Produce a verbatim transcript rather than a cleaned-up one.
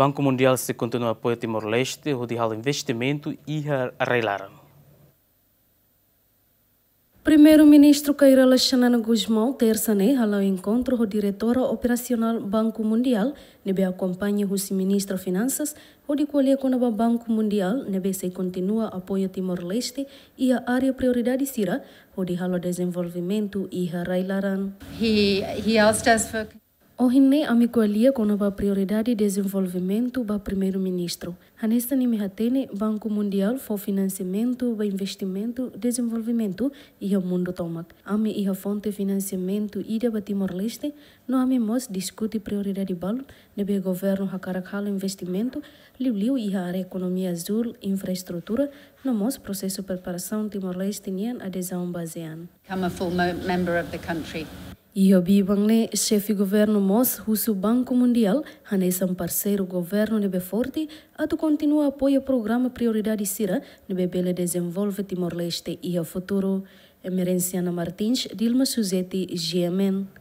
Banku Mundiál sei kontinua apoia Timor-Leste hodi halo investimentu iha rai-laran. Primeiru-Ministru Kay Rala Xanana Gusmão, tersa ne'e, hala'o enkontru ho Diretora Operasionál Banku Mundiál, ne'ebé akompaña husi Ministra Finansas, hodi ko'alia kona-ba Banku Mundiál, ne'ebé sei kontinua apoia Timor-Leste iha área prioridade sira, hodi halo dezenvolvimentu iha rai-laran. He, he asked us for Ohin ne'e ami ko'alia kona-ba prioridade dezenvolvimentu ba Primeiru-Ministru. Hanesan imi hatene, Banku Mundiál fó finansiamentu ba investimentu dezenvolvimentu iha mundu tomak. Ami iha fonte finansiamentu ida ba Timor-Leste, no ami mós diskute prioridade balun ne'ebé governu hakarak halo investimentu, liuliu iha área ekonomia azúl, infraestrutura, no mós prosesu preparasaun Timor-Leste nian adezaun ba ASEAN. Become a full mo-, member of the country. Iha biban ne'e, xefe governu mós husu Banku Mundiál hanesan parseiru governu ne'ebé forte, atu kontinua apoia programa prioridade sira ne'ebé bele dezenvolve Timor-Leste iha futuru. Emerenciana Martins, Dilma Suzeti, G M N.